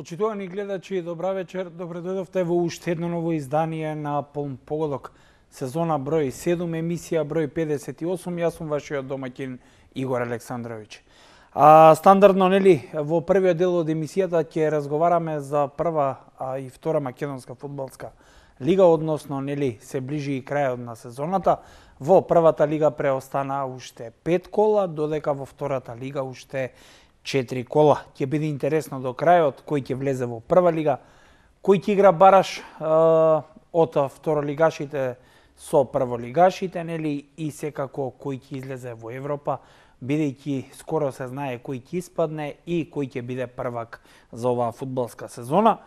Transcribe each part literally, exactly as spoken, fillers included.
Почитувани гледачи, добра вечер. Добре дојдовте во уште едно ново издание на Полн погодок. Сезона број седум, емисија број педесет и осум. Јас сум вашиот домаќин Игор Александровиќ. А, стандардно, нели, во првиот дел од емисијата ќе разговараме за прва а, и втора македонска фудбалска лига, односно, нели, се ближи и крајот на сезоната. Во првата лига преостана уште пет кола, додека во втората лига уште четири кола. Ќе биде интересно до крајот кој ќе влезе во прва лига, кој ќе игра бараш е, од второлигашите со прволигашите, нели, и секако кој ќе излезе во Европа, бидејќи скоро се знае кој ќе испадне и кој ќе биде првак за оваа фудбалска сезона.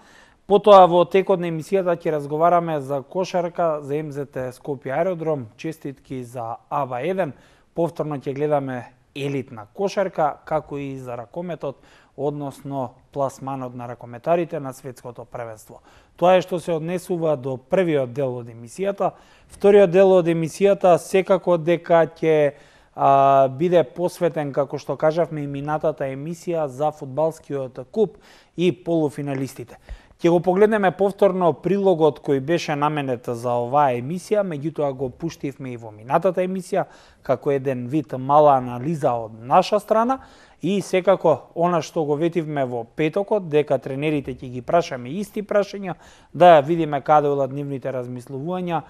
Потоа во текот на емисијата ќе разговараме за кошарка, за Ем Зет Ет Скопје Аеродром, честитки за А Б А еден, повторно ќе гледаме елитна кошарка, како и за ракометот, односно пласманот на ракометарите на светското првенство. Тоа е што се однесува до првиот дел од емисијата. Вториот дел од емисијата секако дека ќе а, биде посветен, како што кажавме и минатата емисија, за фудбалскиот куп и полуфиналистите. Ќе го погледнеме повторно прилогот кој беше наменет за оваа емисија, меѓутоа го пуштивме и во минатата емисија, како еден вид мала анализа од наша страна, и секако она што го ветивме во петокот, дека тренерите ќе ги прашаме исти прашања, да видиме каде одат нивните размислувања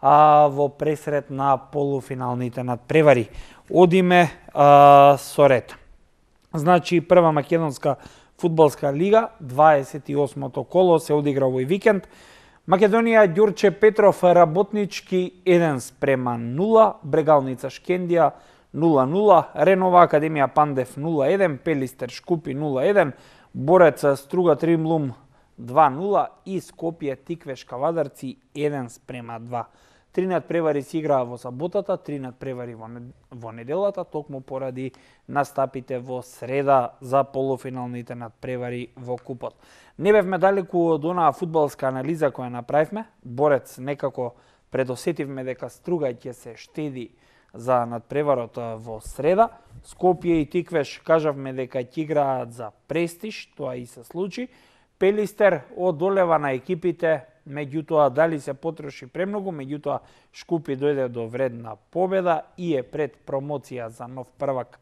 а, во пресрет на полуфиналните надпревари. Одиме а, со ред. Значи, прва македонска фудбалска лига, дваесет и осмото коло се одигра овој викенд. Македонија Ѓурче Петров Работнички еден спрема нула, Брегалница Шкендија нула нула, Ренова Академија Пандев нула еден, Пелистер Шкупи нула еден, Борец Струга Тримлум два нула и Скопје Тиквеш Кавадарци еден спрема два. Три надпревари се играа во саботата, три надпревари во, во неделата, токму поради настапите во среда за полуфиналните надпревари во купот. Не бевме далеку од онаа фудбалска анализа која направивме. Борец некако предосетивме дека Струга ќе се штеди за надпреварот во среда. Скопје и Тиквеш кажавме дека ќе играат за престиж, тоа и се случи. Пелистер одолева на екипите, меѓутоа дали се потроши премногу, меѓутоа Шкупи дојде до вредна победа и е пред промоција за нов првак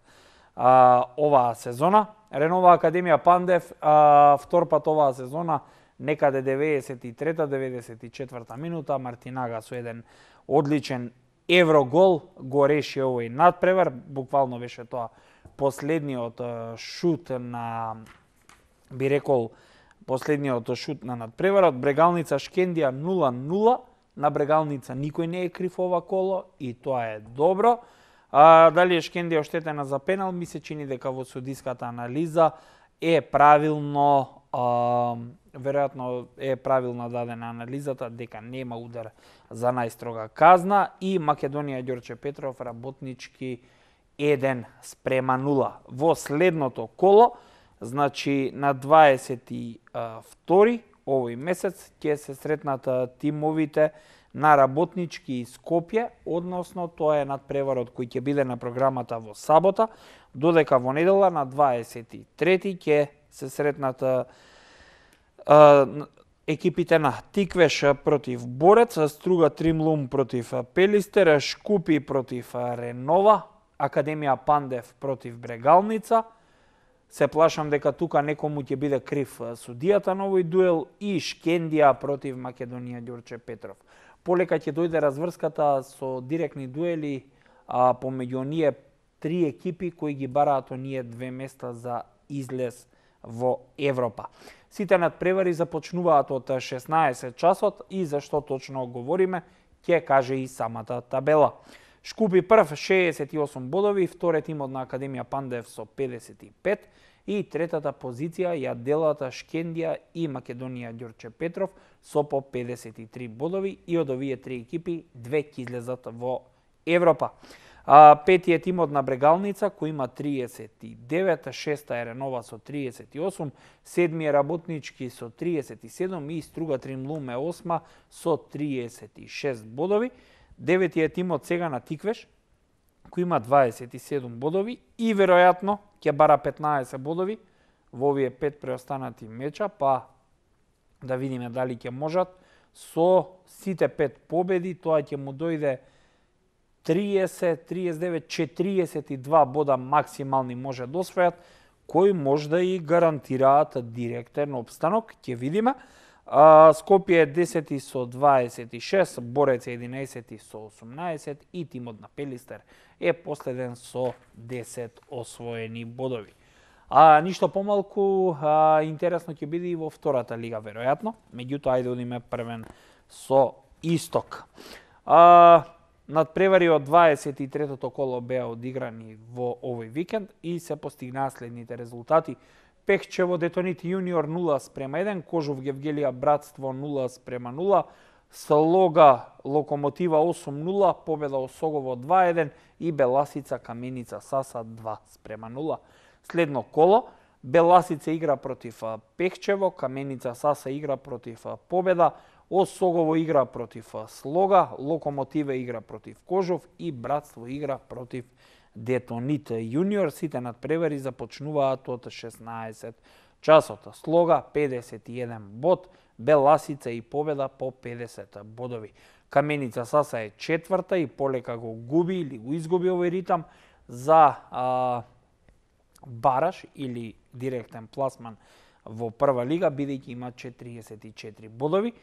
а, оваа сезона. Ренова Академија Пандев а, втор пат оваа сезона, некаде деветдесет и трета деветдесет и четврта минута, Мартинага со еден одличен еврогол го реши овој надпревар, буквално беше тоа последниот шут на, би рекол, последниот шут на надпреварот. Брегалница Шкендија нула нула, на Брегалница никој не е крив ова коло и тоа е добро. А, дали е Шкендија оштетена за пенал, ми се чини дека во судиската анализа е правилно, а, веројатно е правилно дадена анализата дека нема удар за најстрога казна и Македонија Ѓорче Петров Работнички еден спрема нула. Во следното коло, значи на дваесет и втори овој месец ќе се сретнат тимовите на Работнички и Скопје, односно тоа е надпреварот кој ќе биде на програмата во сабота, додека во недела на дваесет и трети ќе се сретнат а, а, екипите на Тиквеш против Борец, Струга Тримлум против Пелистер, Шкупи против Ренова, Академија Пандев против Брегалница. Се плашам дека тука некому ќе биде крив судијата на овој дуел и Шкендија против Македонија Ѓорче Петров. Полека ќе дојде разврската со директни дуели а, помеѓу оние три екипи кои ги бараат оние две места за излез во Европа. Сите надпревари започнуваат од шеснаесет часот и зашто точно говориме, ќе каже и самата табела. Шкупи прв шеесет и осум бодови, вториот тимот на Академија Пандев со педесет и пет и третата позиција ја делат Шкендија и Македонија Ѓорче Петров со по педесет и три бодови и од овие три екипи две ќе излезат во Европа. А, петиот тимот на Брегалница кој има триесет и девет, шеста е Ренова со триесет и осум, седми е Работнички со триесет и седум и Струга Тримлум е осма со триесет и шест бодови. Деветиот тимот сега на Тиквеш, кој има дваесет и седум бодови и веројатно ќе бара петнаесет бодови во овие пет преостанати меча, па да видиме дали ќе можат со сите пет победи, тоа ќе му дојде триесет, триесет и девет, четириесет и два бода максимални може да освојат, кои може да и гарантираат директен опстанок, ќе видиме. А, Скопје е десети со дваесет и шест, Борец е единаесети со осумнаесет и тимот на Пелистер е последен со десет освоени бодови. А ништо помалку а, интересно ќе биде и во втората лига веројатно, меѓутоа ајде одиме првен со Исток. А, Надпревари од дваесет и третото коло беа одиграни во овој викенд и се постигнаа следните резултати. Пехчево Детонит Јуниор нула спрема еден, Кожув Гевгелија Братство нула спрема нула, Слога Локомотива осум нула, победа Осогово два еден и Беласица Каменица Саса два спрема нула. Следно коло, Беласица игра против Пехчево, Каменица Саса игра против Победа, Осогово игра против Слога, Локомотива игра против Кожув и Братство игра против Детонит Јуниор. Сите надпревари започнуваат од шеснаесет часот. Слога педесет и еден бод, Беласица и Победа по педесет бодови. Каменица Саса е четврта и полека го губи или го изгуби овој ритам за а, бараш или директен пласман во прва лига, бидејќи има четириесет и четири бодови.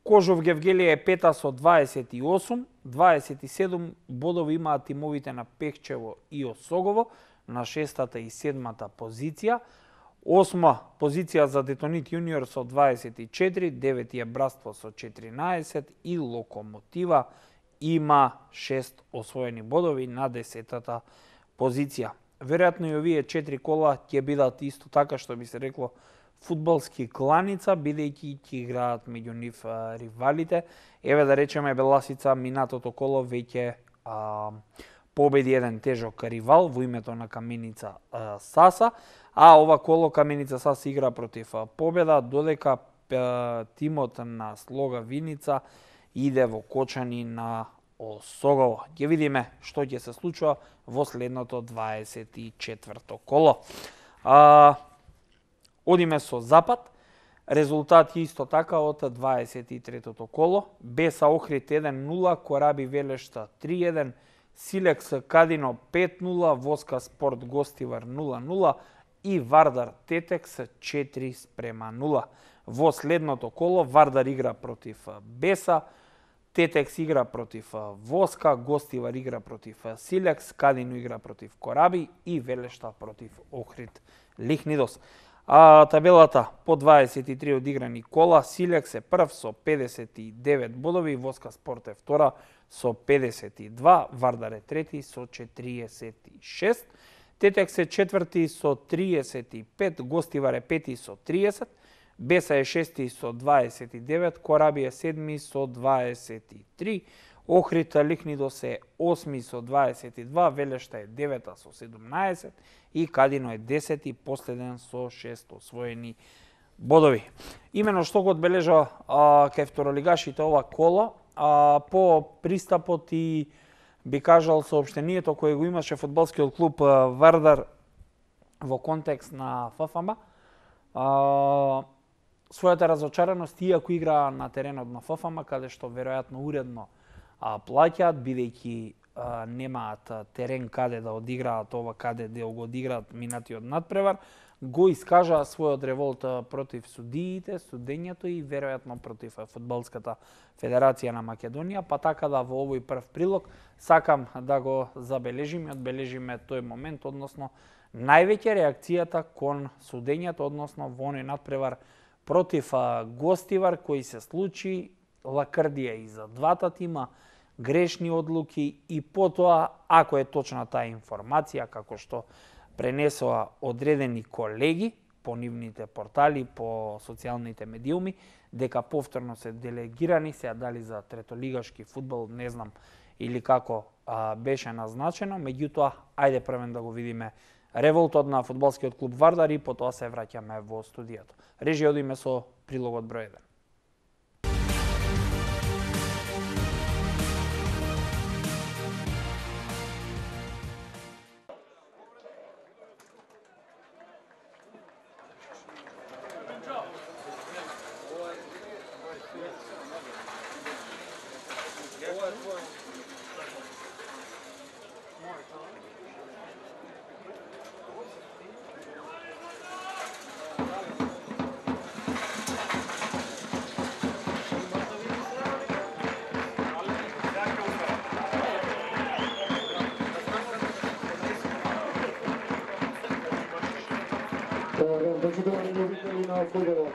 Кожув Гевгелија е пета со дваесет и осум, дваесет и седум бодови имаат тимовите на Пехчево и Осогово на шестата и седмата позиција. Осма позиција за Детонит Јуниор со дваесет и четири, девети е Братство со четиринаесет и Локомотива има шест освоени бодови на десетата позиција. Веројатно и овие четири кола ќе бидат исто така што би се рекло фудбалски кланица, бидејќи ќе играат меѓу нив а, ривалите. Еве да речеме Беласица минатото коло веќе а, победи еден тежок ривал во името на Каменица а, Саса, а ова коло Каменица Саса игра против а, Победа, додека а, тимот на Слога Виница иде во кочани на Осогово. Ќе видиме што ќе се случува во следното дваесет и четврто коло. А, Одиме со Запад. Резултати исто така од дваесет и третото коло. Беса Охрид еден нула, Кораби Велешта три еден, Силекс Кадино пет нула, Воска Спорт Гостивар нула нула и Вардар Тетекс четири спрема нула. Во следното коло Вардар игра против Беса, Тетекс игра против Воска, Гостивар игра против Силекс, Кадино игра против Кораби и Велешта против Охрид Лихнидос. А табелата по дваесет и три одиграни кола, Силекс е прв со педесет и девет бодови, Воска Спорт е втора со педесет и два, Вардар е трети со четириесет и шест, Тетекс е четврти со триесет и пет, Гостивар е пети со триесет, Беса е шести со дваесет и девет, Кораби е седми со дваесет и три, Охрид Лихнидос е осми со дваесет и два, Велешта е девета со седумнаесет и Кадино е десети, последен со шест освоени бодови. Имено што го одбележа а, кај второлигашите ова коло, а, по пристапот и би кажал соопштението кое го имаше фудбалскиот клуб а, Вардар во контекст на ФФМ, а, својата разочараност, иако игра на теренот на ФФМ, каде што веројатно уредно а, плаќаат, бидејќи а, немаат терен каде да одиграат ова, каде дел го одиграат минатиот надпревар, го искажаа својот револт против судиите, судењето и веројатно против Фудбалската федерација на Македонија, па така да во овој прв прилог сакам да го забележиме, одбележиме тој момент, односно највеќе реакцијата кон судењето, односно во оној надпревар против Гостивар кој се случи, лакрдија и за двата тима, грешни одлуки и потоа, ако е точна таа информација, како што пренесоа одредени колеги по нивните портали, по социјалните медиуми, дека повторно се делегирани, се дали за третолигашки фудбал, не знам, или како а, беше назначено, меѓутоа, ајде првен да го видиме револтот на фудбалскиот клуб Вардар и потоа се враќаме во студијето. Режија, одиме со прилогот број еден. Почитувани любители на фудбалот.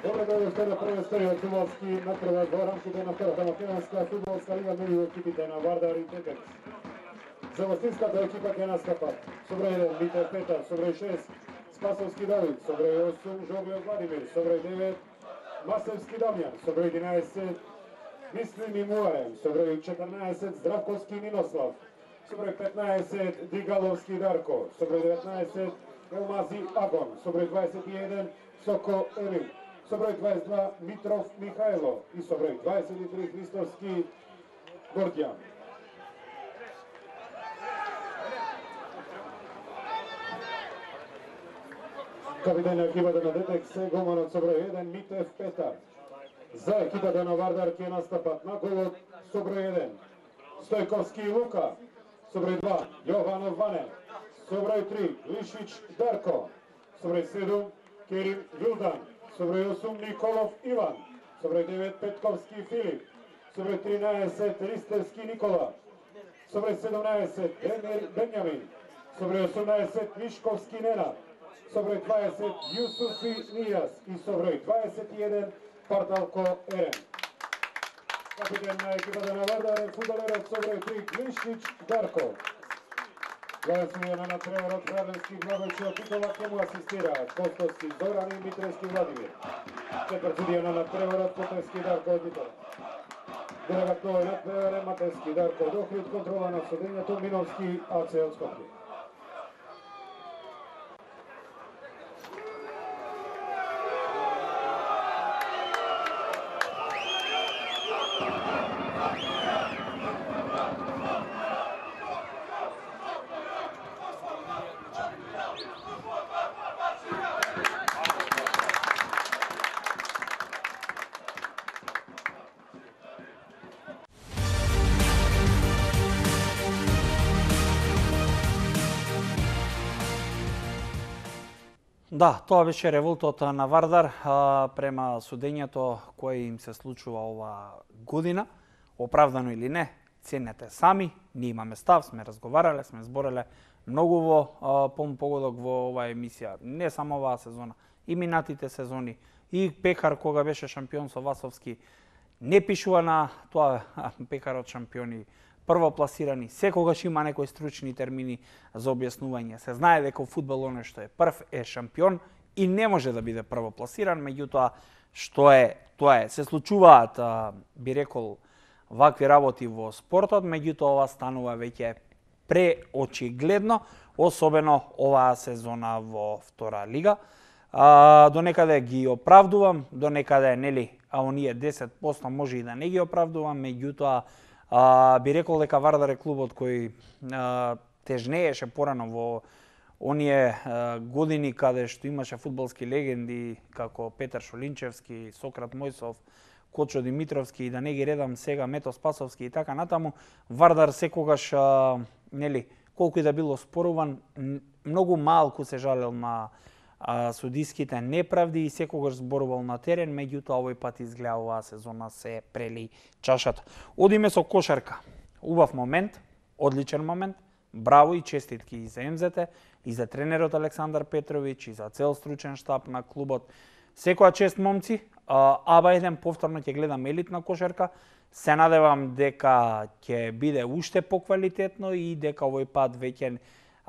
Добре дојдовте на првиот период фудбалски натпревар во рамките на втората македонска фудбалска лига меѓу екипите на Вардар и Тетекс. За гостинската екипа ќе настапат со број еден Митев Петар, со број шест Спасовски Давид, со број осум Жогле Владимир, со број девет Масевски Дамјан, со број единаесет Мислим Имуаем, со број четрнаесет Здравковски Нинослав, со број петнаесет Дигаловски Дарко, со број деветнаесет Елмази Агон, со број дваесет и еден Соко Елим, со број дваесет и два Митров Михајло и со број дваесет и три Христовски Гордјан. Капитен на екипата на Детекс е голманот со број еден Митев Петар. За екипата на Вардар ќе настапат на голот со број еден Стојковски Лука, со број два Јованов Ване, со број три Лишич Дарко, со број седум Керим Вилдан, со број осум Николов Иван, со број девет Петковски Филип, со број тринаесет Ристевски Никола, со број седумнаесет Демир Бенјамин, со број осумнаесет Мишковски Ненад, со број дваесет Јусуфи Нijas и со број дваесет и еден Парталко Ерен. Капитен на екипата на Вардар е фудбалерот со број три Глишич Дарко. Гласување на натпреварот Раденски Благојчиот Титова ќе му асистираат Костовски Зоран и Митревски Владимир. Четврт судија на натпреварот Потевски Дарко од Титова. Делегат на овој натпревар е Матевски Дарко од Охрид, контрола на судењето Миновски АЦ од Скопје. Да, тоа беше револтот на Вардар а, према судењето кое им се случува ова година. Оправдано или не, ценете сами. Ние имаме став, сме разговарале, сме збореле многу во а, погодок во оваа емисија. Не само оваа сезона, и минатите сезони. И Пекар, кога беше шампион со Васовски, не пишува на тоа Пекарот шампиони, првопласирани. Секогаш има некои стручни термини за објаснување. Се знае дека во фудбал оној што е прв е шампион и не може да биде првопласиран, меѓутоа што е, тоа е. Се случуваат, а, би рекол, вакви работи во спортот, меѓутоа ова станува веќе преочигледно, особено оваа сезона во втора лига. А, до некаде ги оправдувам, до некаде, нели, а оние десет проценти може и да не ги оправдувам, меѓутоа А, би рекол дека Вардар е клубот кој а, тежнееше порано во оние а, години каде што имаше фудбалски легенди како Петар Шолинчевски, Сократ Мојсов, Кочо Димитровски и да не ги редам сега Мето Спасовски и така натаму. Вардар секогаш, а, нели, колку и да било споруван, многу малку се жалел на а, судиските неправди и секогаш зборувал на терен, меѓутоа овој пат изгледа оваа сезона се прели чашата. Одиме со кошарка. Убав момент, одличен момент, браво и честитки и за ем зет те, и за тренерот Александар Петровиќ, и за цел стручен штаб на клубот. Секоја чест, момци, аба еден повторно ќе гледам елитна кошарка. Се надевам дека ќе биде уште поквалитетно и дека овој пат веќе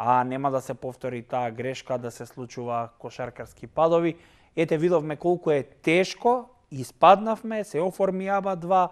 а нема да се повтори таа грешка да се случува кошаркарски падови. Ете, видовме колку е тешко, испаднавме, се оформи аба два,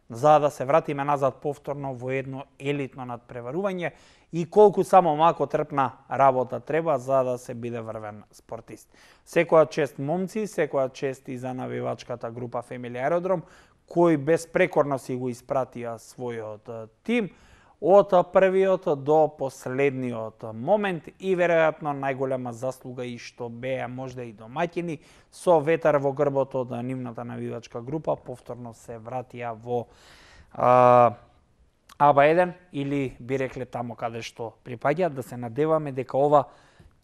за да се вратиме назад повторно во едно елитно надпреварување и колку само малку трпна работа треба за да се биде врвен спортист. Секоја чест, момци, секоја чест и за навивачката група Фемили Аеродром, кои безпрекорно си го испратија својот тим од првиот до последниот момент и веројатно најголема заслуга и што беа можда и домаќини со ветар во грбот од нивната навивачка група, повторно се вратија во а, аба еден или би рекле тамо каде што припаѓаат. Да се надеваме дека ова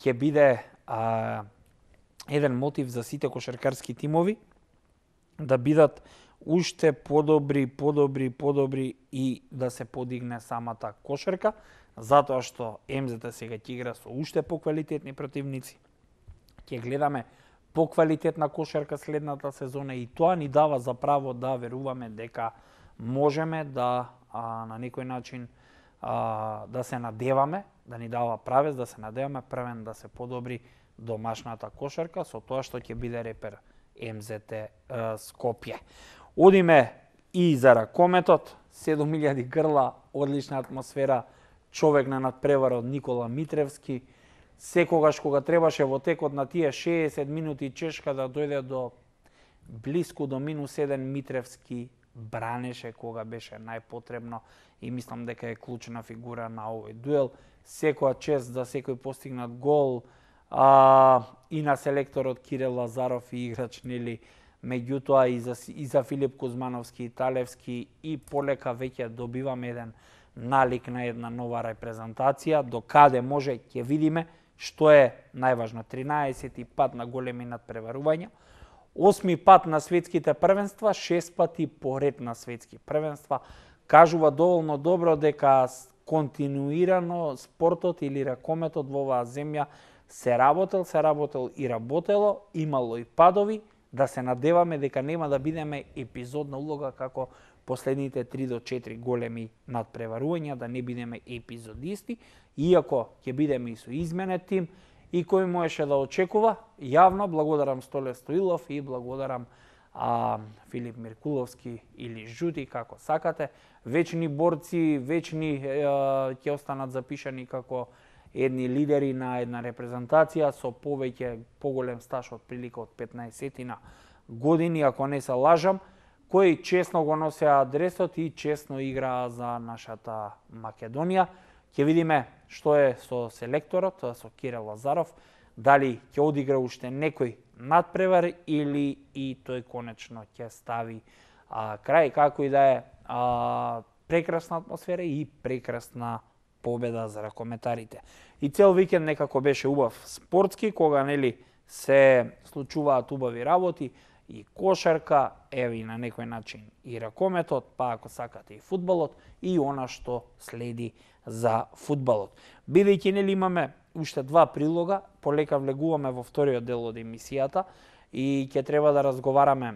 ќе биде а, еден мотив за сите кошаркарски тимови да бидат уште подобри, подобри, подобри и да се подигне самата кошарка, затоа што ем зет те сега ќе игра со уште поквалитетни противници. ќе гледаме поквалитетна кошарка следната сезона и тоа ни дава за право да веруваме дека можеме да а, на некој начин а, да се надеваме, да ни дава правец, да се надеваме првен да се подобри домашната кошарка со тоа што ќе биде репер ем зет е, Скопје. Одиме и за ракометот, седум илјади грла, одлична атмосфера, човек на надпреварот Никола Митревски. Секогаш кога требаше во текот на тие шеесет минути чешка да дојде до блиску до минус еден, Митревски бранеше кога беше најпотребно и мислам дека е клучна фигура на овој дуел. Секоја чест за секој постигнат гол, а, и на селекторот Кирил Лазаров и играч нели, меѓутоа и за, и за Филип Кузмановски и Талевски, и полека веќе добиваме еден налик на една нова репрезентација, до каде може ќе видиме, што е најважно, тринаесети пат на големи надпреварувања, осми пат на светските првенства, шест пати поред на светски првенства, кажува доволно добро дека континуирано спортот или ракометот во оваа земја се работел, се работел и работело, имало и падови, да се надеваме дека нема да бидеме епизодна улога како последните три до четири големи надпреварувања, да не бидеме епизодисти, иако ќе бидеме и со изменет тим, и кој можеше да очекува. Јавно благодарам Столе Стоилов и благодарам а, Филип Миркуловски или Жути, како сакате. Вечни борци, вечни е, ќе останат запишани како едни лидери на една репрезентација со повеќе поголем стаж од прилика од петнаесетина години, ако не се лажам, кои честно го носеа адресот и честно играа за нашата Македонија. Ќе видиме што е со селекторот, со Кирил Лазаров, дали ќе одигра уште некој надпревар или и тој конечно ќе стави а, крај, како и да е, а, прекрасна атмосфера и прекрасна победа за ракометарите. И цел викенд некако беше убав спортски, кога нели се случуваат убави работи, и кошарка, еве и на некој начин и ракометот, па ако сакате и фудбалот, и она што следи за фудбалот. Бидејќи нели имаме уште два прилога, полека влегуваме во вториот дел од емисијата и ќе треба да разговараме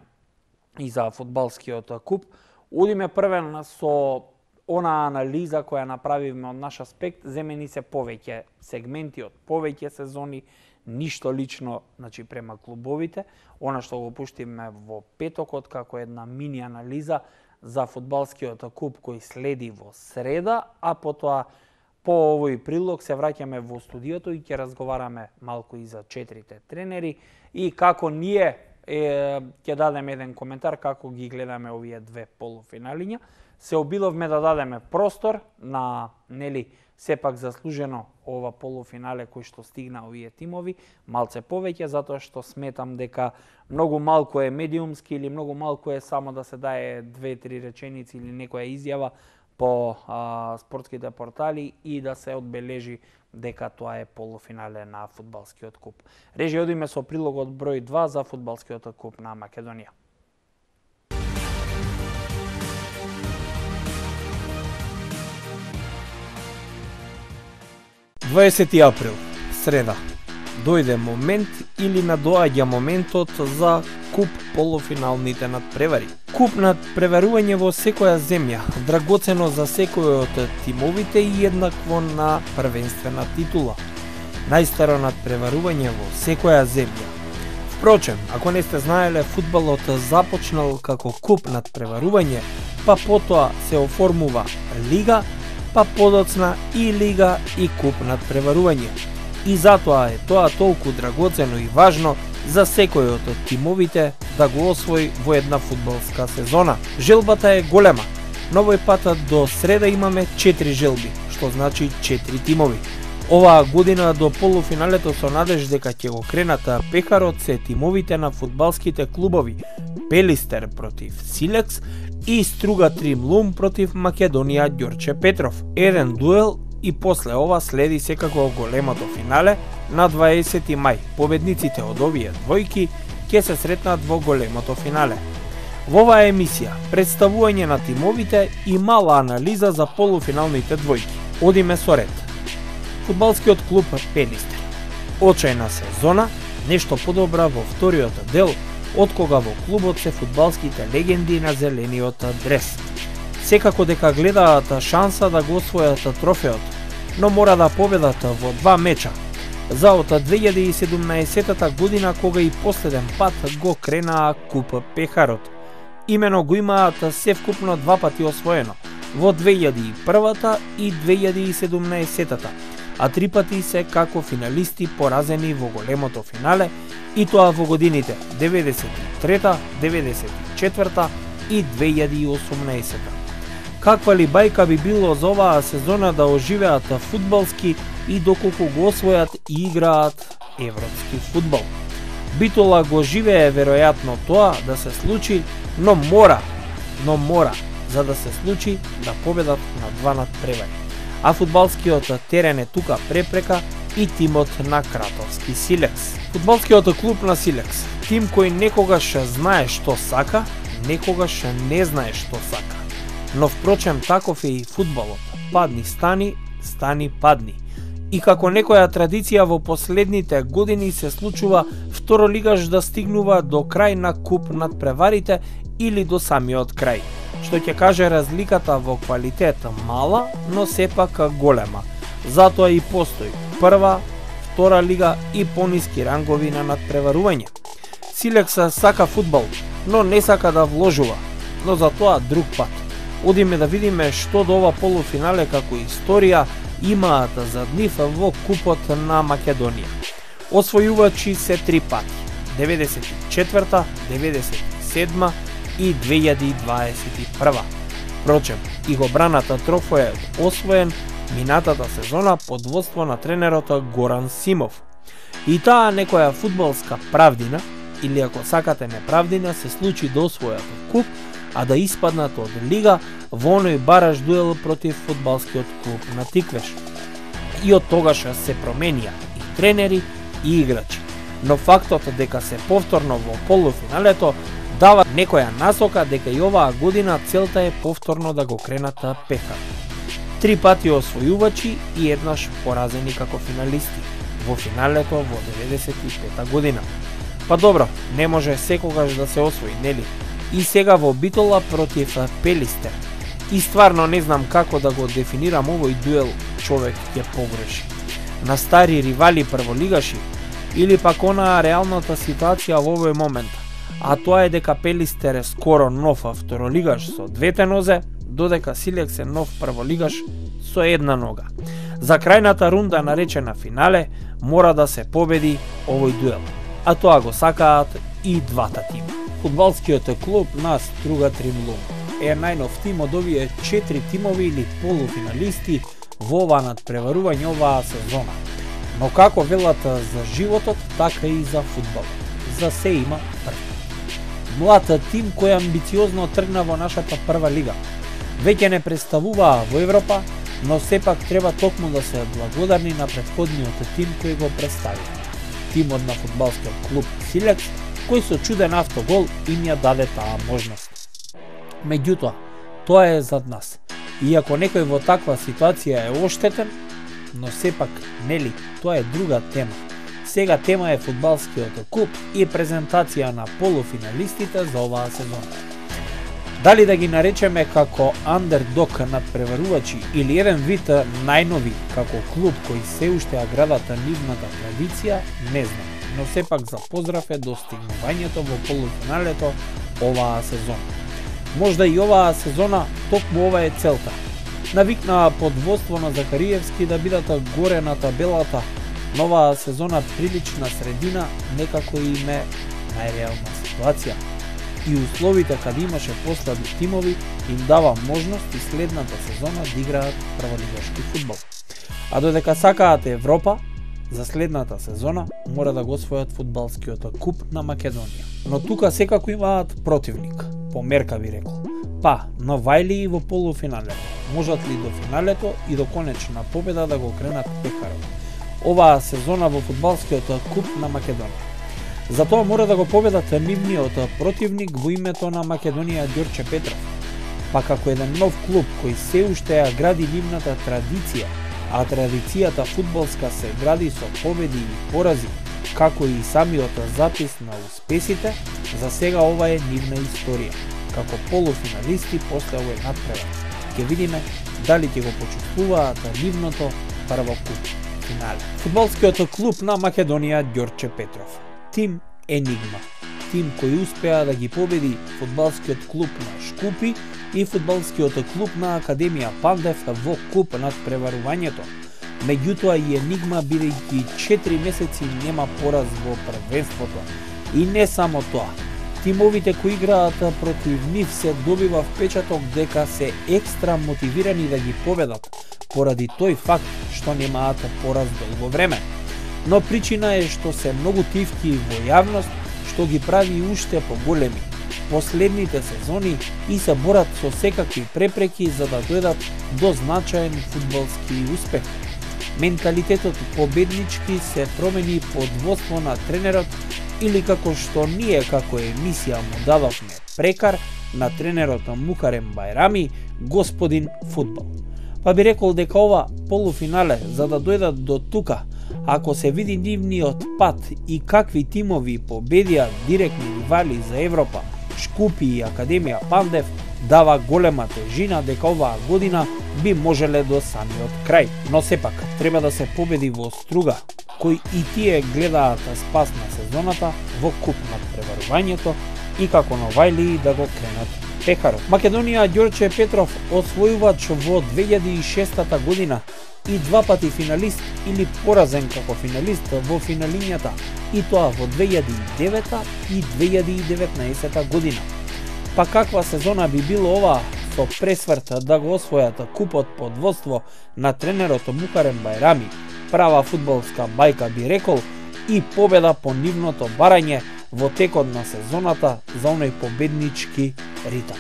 и за фудбалскиот куп. Одиме првен со она анализа која направивме од наш аспект, земени се повеќе сегменти од повеќе сезони, ништо лично, значи према клубовите, она што го пуштиме во петокот како една мини анализа за фудбалскиот куп кој следи во среда, а потоа по овој прилог се враќаме во студиото и ќе разговараме малку и за четирите тренери и како ние е, ќе дадеме еден коментар како ги гледаме овие две полуфиналиња. Се обидовме да дадеме простор на нели сепак заслужено ова полуфинале кој што стигна овие тимови, малце повеќе, затоа што сметам дека многу малку е медиумски или многу малку е само да се дае две-три реченици или некоја изјава по а, спортските портали и да се одбележи дека тоа е полуфинале на фудбалскиот куп. Режи, одиме со прилогот број два за фудбалскиот куп на Македонија. дваесети април, среда. Дојде момент или надоаѓа моментот за куп полуфиналните надпревари. Куп надпреварување во секоја земја, драгоцено за секој од тимовите и еднакво на првенствена титула. Најстаро надпреварување во секоја земја. Впрочем, ако не сте знаеле, фудбалот започнал како куп надпреварување, па потоа се оформува лига, па подоцна и лига и куп надпреварување. И затоа е тоа толку драгоцено и важно за секој од тимовите да го освои во една фудбалска сезона. Желбата е голема, но овој пат до среда имаме четири желби, што значи четири тимови. Оваа година до полуфиналето со надеж дека ќе го кренат пехарот се тимовите на фудбалските клубови Пелистер против Силекс и Струга Тримлум против Македонија Ѓорче Петров. Еден дуел и после ова следи секако големото финале на дваесети мај. Победниците од овие двојки ќе се сретнат во големото финале. Во оваа емисија представување на тимовите и мала анализа за полуфиналните двојки. Одиме со ред. Фудбалскиот клуб Пелистер. Очајна сезона, нешто подобра во вториот дел, откога во клубот се фудбалските легенди на зелениот дрес. Секако дека гледаат шанса да го освојат трофеот, но мора да победат во два меча. За од две илјади и седумнаесетта година, кога и последен пат го кренаа Куп Пехарот. Имено го имаат севкупно два пати освоено, во две илјади и првата и две илјади и седумнаесетта, а три пати се како финалисти поразени во големото финале, и тоа во годините деветдесет и трета, деветдесет и четврта и две илјади и осумнаесетта. Каква ли бајка би било за оваа сезона да оживеат фудбалски и доколку го освојат и играат европски фудбал. Битола го живее веројатно тоа да се случи, но мора, но мора, за да се случи, да победат на два надпревари. А фудбалскиот терен е тука препрека и тимот на Кратовски Силекс. Фудбалскиот клуб на Силекс, тим кој некогаш знае што сака, некогаш не знае што сака. Но впрочем таков е и фудбалот. Падни стани, стани падни. И како некоја традиција во последните години се случува второлигаш да стигнува до крај на куп надпреварите или до самиот крај, што ќе каже разликата во квалитет мала, но сепак голема. Затоа и постои прва, втора лига и пониски рангови на надпреварување. Силекс сака фудбал, но не сака да вложува, но за тоа друг пат. Одиме да видиме што до ова полуфинале како историја имаат за нив во Купот на Македонија. Освојувачи се три пати: деветдесет и четврта, деветдесет и седма и две илјади и дваесет и прва. Впрочем, и го браната трофејот освоен минатата сезона под водство на тренерот Горан Симов. И таа некоја фудбалска правдина, или ако сакате неправдина, се случи да освојат куп, а да испаднат од лига во оној бараж дуел против фудбалскиот клуб на Тиквеш. И од тогаш се променија и тренери и играчи. Но фактот дека се повторно во полуфиналето дава некоја насока дека и оваа година целта е повторно да го кренат Пехар. Три пати освојувачи и еднаш поразени како финалисти во финалето во деветдесет и пета година. Па добро, не може секогаш да се освои, нели? И сега во Битола против Пелистер. И стварно не знам како да го дефинирам овој дуел, човек ќе погреши. На стари ривали прволигаши или пак онаа реалната ситуација во овој момент, а тоа е дека Пелистер е скоро нов второлигаш со двете нозе, додека Силекс е нов прволигаш со една нога. За крајната рунда наречена финале мора да се победи овој дуел, а тоа го сакаат и двата тима. Фудбалскиот клуб на Струга Тримлум е најнов тим од овие четири тимови или полуфиналисти во ова надпреварување оваа сезона. Но како велат за животот, така и за фудбалот. За се има прв. Млад тим кој амбициозно тргна во нашата прва лига. Веќе не представуваа во Европа, но сепак треба токму да се благодарни на претходниот тим кој го представи. Тимот на фудбалскиот клуб Силекс, кој со чуден автогол им ја даде таа можност. Меѓутоа, тоа е зад нас. Иако некој во таква ситуација е оштетен, но сепак, нели, тоа е друга тема. Сега тема е фудбалскиот куп и презентација на полуфиналистите за оваа сезона. Дали да ги наречеме како андердог надпреварувачи или еден вид најнови како клуб кој се уште ја градат нивната традиција, не знам. Но сепак за поздрав е достигнувањето во полуфиналето оваа сезона. Можда и оваа сезона токму ова е целта. Навикнаа под водство на Закариевски да бидат горе на табелата, новаа сезона прилична средина некако им е најреална ситуација. И условите каде имаше послаби тимови им дава можност и следната сезона да играат прволигашки фудбал. А додека сакаат Европа, за следната сезона мора да го освојат фудбалскиот куп на Македонија. Но тука секако имаат противник, по мерка би рекол. Па, но вајли и во полуфиналето. Можат ли до финалето и до конечна победа да го кренат Пехарот оваа сезона во фудбалскиот куп на Македонија? Затоа мора да го победат нивниот противник во името на Македонија Ѓорче Петров. Па како еден нов клуб кој се уште ја гради нивната традиција, а традицијата фудбалска се гради со победи и порази, како и самиот запис на успесите, за сега ова е нивна историја. Како полуфиналисти после овој надпревар. Ќе видиме дали ќе го почувствуваат нивното прво куп финале. Фудбалскиот клуб на Македонија Ѓорче Петров. Тим Енигма. Тим кој успеа да ги победи фудбалскиот клуб на Шкупи и фудбалскиот клуб на Академија Пандев во куп надпреварувањето. Меѓутоа и Енигма, бидејќи четири месеци нема пораз во првенството. И не само тоа. Тимовите кои играат против нив се добива впечаток дека се екстра мотивирани да ги победат, поради тој факт што немаат пораз долго време. Но причина е што се многу тивки во јавност, што ги прави уште поголеми. Последните сезони и се борат со секакви препреки за да дојдат до значаен фудбалски успех. Менталитетот победнички се промени под водство на тренерот, или како што ние како емисија му дадовме прекар на тренерот Мукарем Бајрами, господин фудбал. Па би рекол дека ова полуфинале, за да дојдат до тука, ако се види нивниот пат и какви тимови победија директни ривали за Европа, Шкупи и Академија Пандев, дава голема тежина дека оваа година би можеле до самиот крај. Но сепак, треба да се победи во Струга, кои и тие гледаат спас на сезоната во куп надпреварувањето и како новајли да го кренат пехарот. Македонија Ѓорче Петров, освојувач во две илјади и шестата година и два пати финалист или поразен како финалист во финалињата, и тоа во две илјади и девета и две илјади и деветнаесета година. Па каква сезона би било ова со пресврт да го освојат купот под водство на тренерот Мукарем Бајрами, права фудбалска бајка би рекол, и победа по нивното барање во текот на сезоната за оној победнички ритам.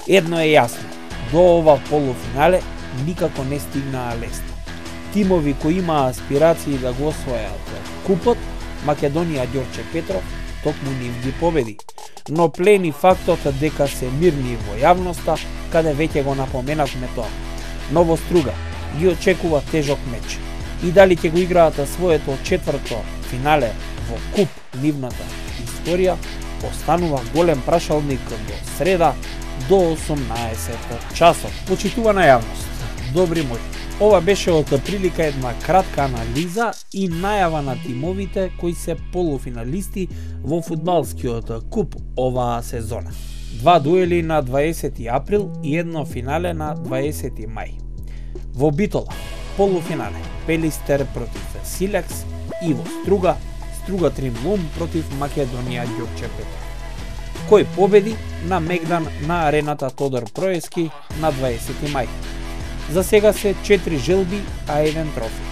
Едно е јасно, до ова полуфинале никако не стигнаа лесно. Тимови кои имаа аспирации да го освојат купот, Македонија Ѓорче Петров токму нив ги победи. Но плени фактот дека се мирни во јавноста, каде веќе го напоменавме тоа. Но во Струга ги очекува тежок меч. И дали ќе го играат своето четврто финале во куп нивната историја, останува голем прашалник до среда до осумнаесет часот. Почитувана јавност, добри мои, ова беше од прилика една кратка анализа и најава на тимовите кои се полуфиналисти во фудбалскиот куп оваа сезона. Два дуели на дваесети април и едно финале на дваесети мај. Во Битола, полуфинале, Пелистер против Силекс, и во Струга, Струга Тримлум против Македонија Ѓорче Петров. Кој победи на Мегдан на арената Тодор Проески на дваесети мај. За сега се четири желби, а еден трофи.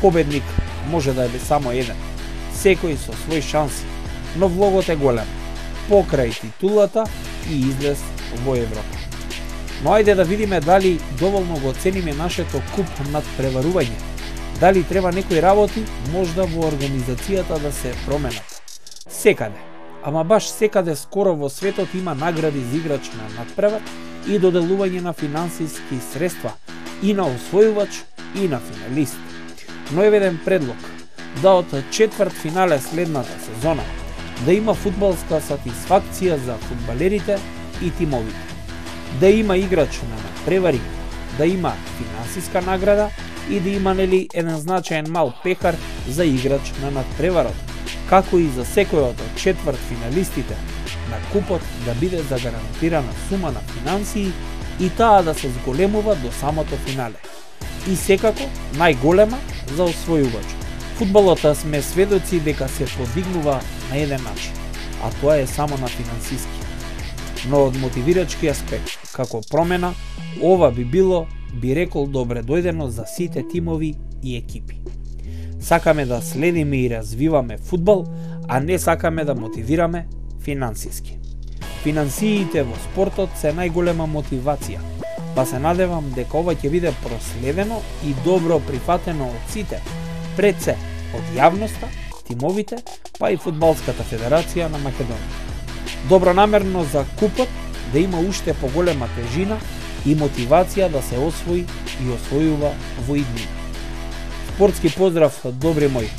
Победник може да е само еден, секој со свој шанси, но влогот е голем, покрај титулата и излез во Европа. Но ајде да видиме дали доволно го цениме нашето куп надпреварување. Дали треба некои работи, можда во организацијата да се променат. Секаде, ама баш секаде скоро во светот има награди за играч на надпревар и доделување на финансиски средства и на освојувач и на финалист. Но е еден предлог да од четврт финале следната сезона да има фудбалска сатисфакција за фудбалерите и тимовите. Да има играч на надпревари, да има финансиска награда и да има нели еден значаен мал пехар за играч на надпреварот, како и за секој од четврт финалистите на купот да биде загарантирана сума на финансии и таа да се зголемува до самото финале. И секако најголема за освојувач. Фудбалот сме сведоци дека се подигнува на еден начин, а тоа е само на финансиски. Но од мотивирачки аспект, како промена, ова би било, би рекол, добре дојдено за сите тимови и екипи. Сакаме да следиме и развиваме фудбал, а не сакаме да мотивираме финансиски. Финансиите во спортот се најголема мотивација, па се надевам дека ова ќе биде проследено и добро прифатено од сите, пред се од јавноста, тимовите, па и Фудбалската федерација на Македонија. Добронамерно за купот да има уште поголема тежина и мотивација да се освои и освојува во иднина. Спортски поздрав, добри мои.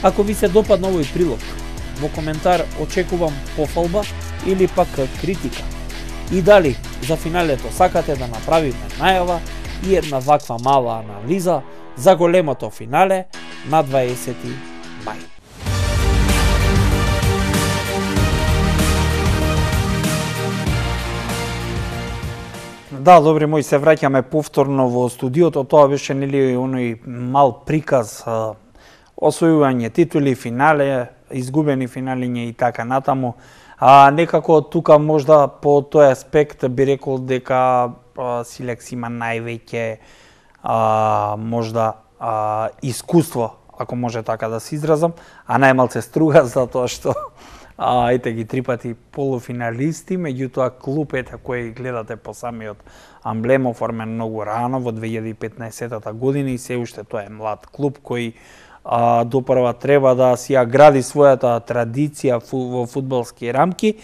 Ако ви се допадна овој прилог, во коментар очекувам пофалба или пак критика. И дали за финалето сакате да направиме најава и една ваква мала анализа за големото финале на дваесети мај. Да, добри мои, се враќаме повторно во студиото. Тоа беше нели оној мал приказ, освојување титули, финале, изгубени финалиња и така натаму. А некако тука можда по тој аспект би рекол дека Силекс има највеќе а, можда а, искуство, ако може така да се изразам, а најмалце струга затоа што а, ете ги три пати полуфиналисти, меѓутоа клуб ете кој гледате по самиот амблем оформен многу рано во две илјади и петнаесетата година и се уште тоа е млад клуб кој а, допрва треба да си ја гради својата традиција фу, во фудбалски рамки.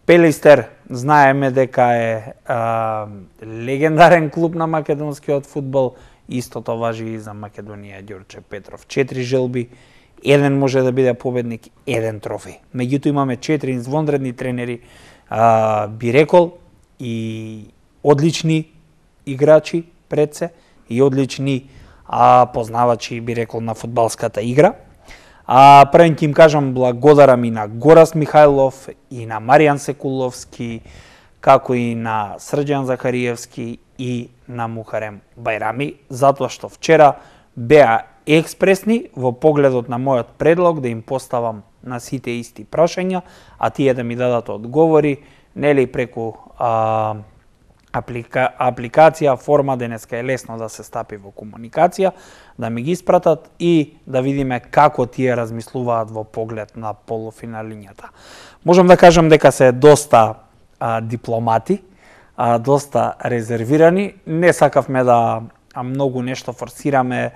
Пелистер знаеме дека е а, легендарен клуб на македонскиот фудбал, истото важи и за Македонија Ѓорче Петров. Четири желби, еден може да биде победник, еден трофеј. Меѓутоа имаме четири извонредни тренери, а, би рекол, и одлични играчи пред се, и одлични а, познавачи, би рекол, на фудбалската игра. А, првен ќе им кажам благодарам и на Горас Михајлов, и на Маријан Секуловски, како и на Срđan Захариевски и на Мухарем Бајрами, затоа што вчера беа експресни во погледот на мојот предлог да им поставам на сите исти прашања, а тие да ми дадат одговори, нели преку а, аплика, апликација, форма, денеска е лесно да се стапи во комуникација, да ми ги испратат и да видиме како тие размислуваат во поглед на полуфиналињата. Можам да кажам дека се доста а, дипломати, а, доста резервирани, не сакавме да а, многу нешто форсираме,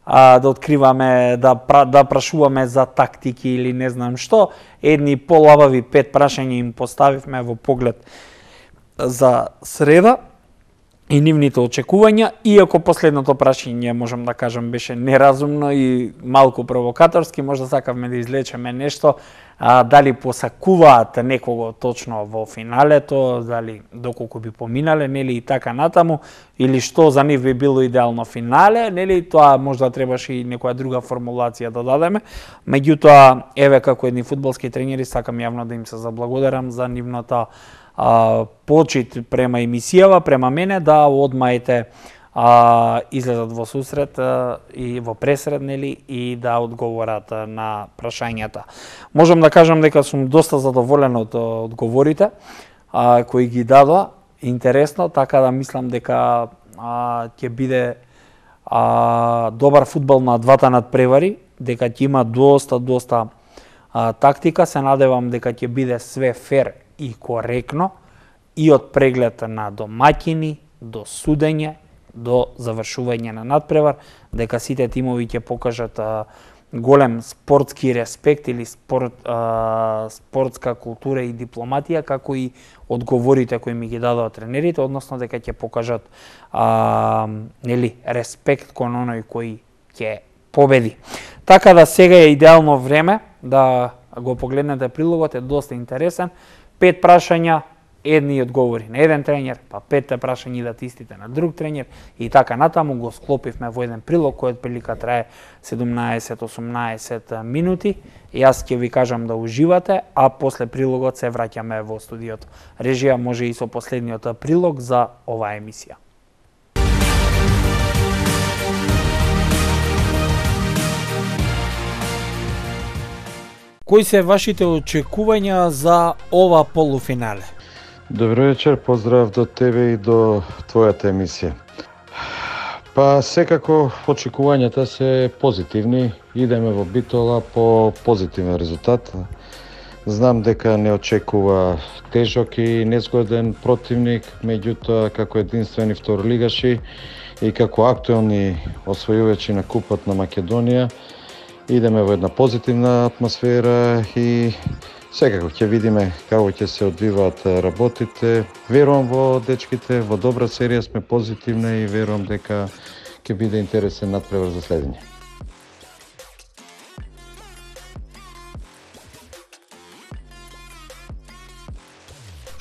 а, да откриваме, да, да прашуваме за тактики или не знам што. Едни полабави пет прашања им поставивме во поглед за среда и нивните очекувања, иако последното прашање, можам да кажам, беше неразумно и малку провокаторски, можда сакавме да излечеме нешто, а, дали посакуваат некого точно во финалето, дали доколку би поминале, нели и така натаму, или што за нив би било идеално финале, нели тоа можда требаше и некоја друга формулација да дадеме. Меѓутоа, еве како едни фудбалски тренери, сакам јавно да им се заблагодарам за нивната а, почит према емисијава, према мене, да одмаете а, излезат во сусрет а, и во пресред, нели, и да одговорат а, на прашањата. Можам да кажам дека сум доста задоволен од одговорите а, кои ги дадоа, интересно, така да мислам дека а, ќе биде а, добар фудбал на двата надпревари, дека ќе има доста, доста а, тактика, се надевам дека ќе биде све фер и коректно, и од преглед на домаќини, до судење, до завршување на надпревар, дека сите тимови ќе покажат а, голем спортски респект или спорт, а, спортска култура и дипломатија, како и одговорите кои ми ги дадоа тренерите, односно дека ќе покажат а, нели, респект кон оној кој ќе победи. Така да сега е идеално време да го погледнете прилогот, е доста интересен. Пет прашања, едни одговори на еден тренер, па петте прашања идат истите на друг тренер и така натаму го склопивме во еден прилог кој отприлика трае седумнаесет-осумнаесет минути. Јас ќе ви кажам да уживате, а после прилогот се враќаме во студиото. Режија може и со последниот прилог за оваа емисија. Кои се вашите очекувања за ова полуфинале? Добро вечер, поздрав до тебе и до твојата емисија. Па секако очекувањата се позитивни, идеме во Битола по позитивен резултат. Знам дека не очекува тежок и незгоден противник, меѓутоа како единствени второлигаши и како актуелни освојувачи на Купот на Македонија, идеме во една позитивна атмосфера и секако ќе видиме како ќе се одвиваат работите. Верувам во дечките, во добра серија сме позитивна и верувам дека ќе биде интересен надпревар за следење.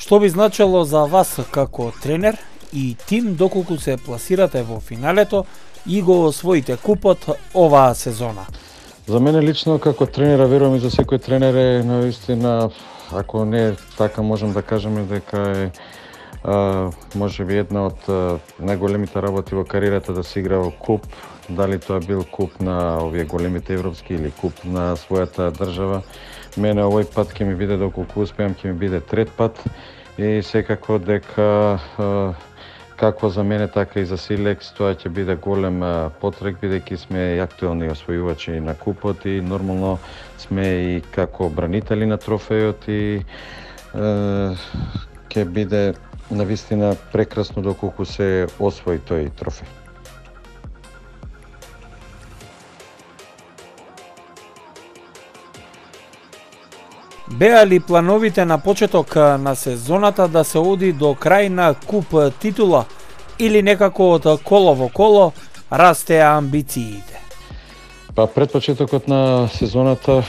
Што би значело за вас како тренер и тим доколку се пласирате во финалето и го освоите купот оваа сезона? За мене лично како тренера, верувам и за секој тренер е наистина, ако не така можем да кажеме дека е а, може би една од а, најголемите работи во кариерата да се игра во куп, дали тоа бил куп на овие големите европски или куп на својата држава. Мене овој пат ќе ми биде, доколку успеам, ќе ми биде трет пат и секако дека а, како за мене, така и за Силекс, тоа ќе биде голем потрек, бидејќи сме и актуелни освојувачи на купот и нормално сме и како бранители на трофејот и е, ќе биде навистина прекрасно доколку се освои тој трофеј. Беа ли плановите на почеток на сезоната да се оди до крај на куп титула или некако од коло во коло растеа амбициите? Па пред почетокот на сезоната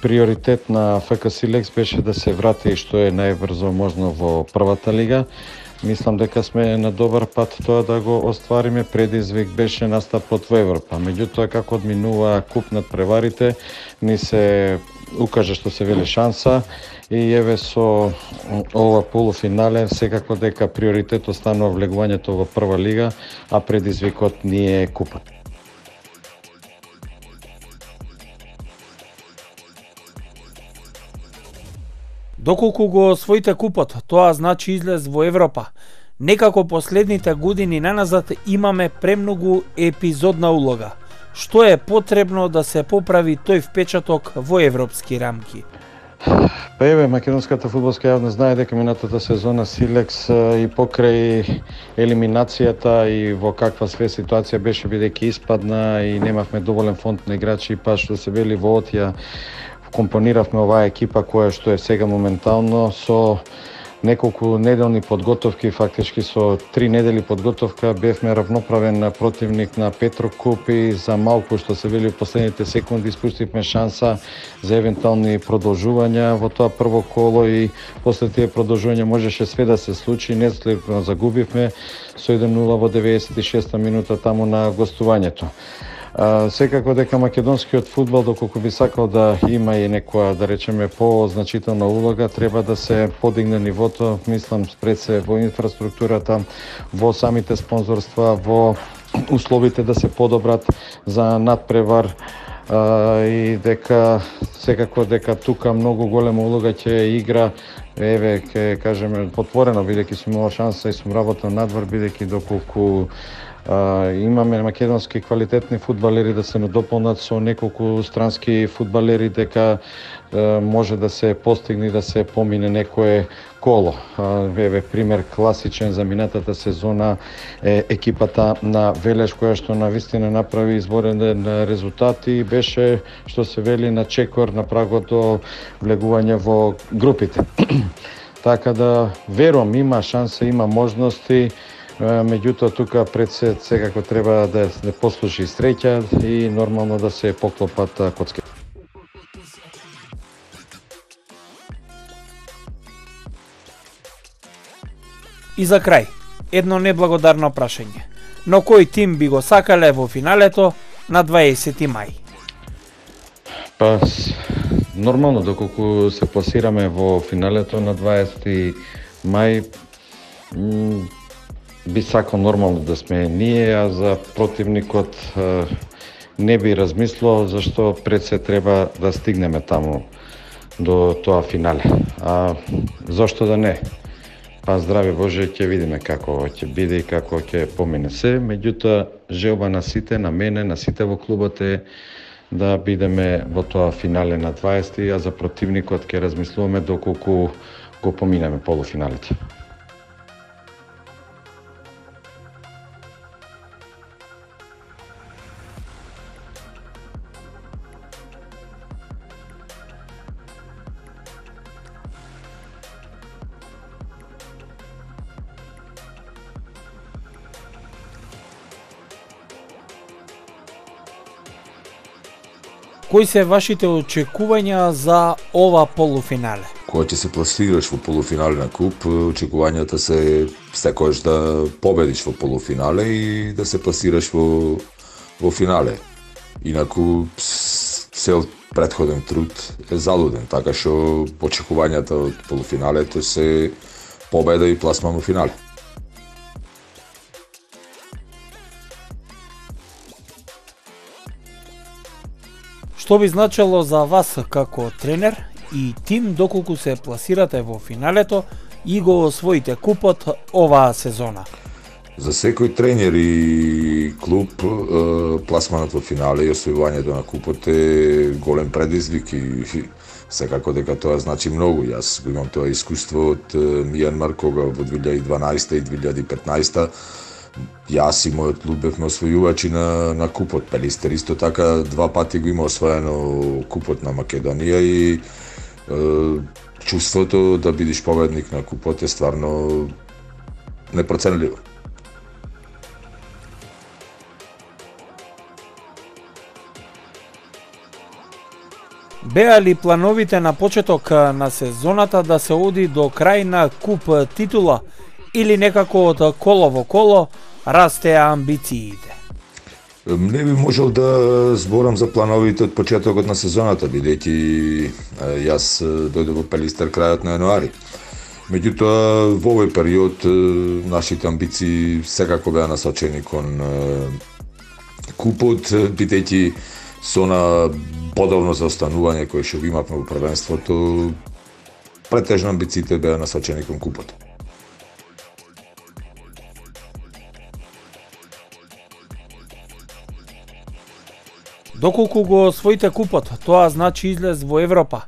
приоритет на Еф Ка Силекс беше да се врати што е најбрзо можно во првата лига. Мислам дека сме на добар пат тоа да го оствариме. Предизвик беше настапот во Европа. Меѓутоа, како одминува куп над преварите, ни се укажа што се вели шанса и еве со ова полуфинале секако дека приоритет останува влегувањето во прва лига, а предизвикот ни е купот. Доколку го освоите купот, тоа значи излез во Европа. Некако последните години наназад имаме премногу епизодна улога. Што е потребно да се поправи тој впечаток во европски рамки? Па еве, македонската фудбалска јавност знае дека минатата сезона Силекс и покрај елиминацијата и во каква све ситуација беше, бидејќи испадна и немавме доволен фонд на играчи, па што се вели во Отја компониравме оваа екипа која што е сега моментално со неколку неделни подготовки, фактички со три недели подготовка бевме равноправен противник на Петрокуп и за малку што се вели во последните секунди испуштивме шанса за евентуални продолжувања во тоа прво коло и после тие продолжувања можеше све да се случи. Неследно загубивме со еден нула во деветдесет и шеста минута таму на гостувањето. А, секако дека македонскиот фудбал, доколку би сакал да има и некоја, да речеме, по-значителна улога, треба да се подигне нивото, мислам, пред се во инфраструктурата, во самите спонзорства, во условите да се подобрат за надпревар, а, и дека секако дека тука многу голема улога ќе игра, еве, ќе кажеме, отворено, бидејќи сум имал шанса и сум работел надвор, бидејќи доколку Uh, имаме македонски квалитетни фудбалери да се надополнат со неколку странски фудбалери, дека uh, може да се постигне да се помине некое коло. Uh, еве пример класичен за минатата сезона е екипата на Велеш, која што навистина направи изборен резултат и беше, што се вели, на чекор на прагот до влегување во групите. Така да верувам, има шанса, има можности. Меѓутоа, тука пред се секако треба да се послужи среќа и нормално да се поклопат коцки. И за крај, едно неблагодарно прашање. Но кој тим би го сакале во финалето на дваесети мај? Па, нормално, доколку се пласираме во финалето на дваесети мај, би сакал нормално да сме ние, а за противникот е, не би размислил, зашто пред се треба да стигнеме таму до тоа финале. А зашто да не? Па здраве Боже, ќе видиме како ќе биде и како ќе помине се. Меѓутоа, желба на сите, на мене, на сите во клубот е да бидеме во тоа финале на дваесети, а за противникот ќе размислуваме доколку го поминеме полуфиналите. Кои се вашите очекувања за ова полуфинале? кога ќе се пласираш во полуфинале на куп, очекувањата се секогаш да победиш во полуфинале и да се пласираш во во финале. Инаку цел претходен труд е залуден, така што очекувањата од полуфиналето се победа и пласман во финале. Што би значело за вас како тренер и тим доколку се пласирате во финалето и го освоите купот оваа сезона? За секој тренер и клуб, пласманот во финале и освојувањето на купот е голем предизвик и секако дека тоа значи многу. Јас го имам тоа искуство од Мијанмар, кога во две илјади и дванаесета и две илјади и петнаесета јас и мојот клуб бевме освојувачи на, на купот. Пелистер исто така два пати го има освоено купот на Македонија и е, чувството да бидиш победник на купот е стварно непроценливо. Беа ли плановите на почеток на сезоната да се оди до крај на куп титула или некако од коло во коло растеа амбициите? Не би можел да зборам за плановите од почетокот на сезоната, бидејќи јас дојдов во Пелистер крајот на јануари. Меѓутоа, во овој период нашите амбиции секако беа насочени кон купот, бидејќи со на подобно заостанување кое што имавме во првенството, претежно амбициите беа насочени кон купот. Доколку го освоите купот, тоа значи излез во Европа.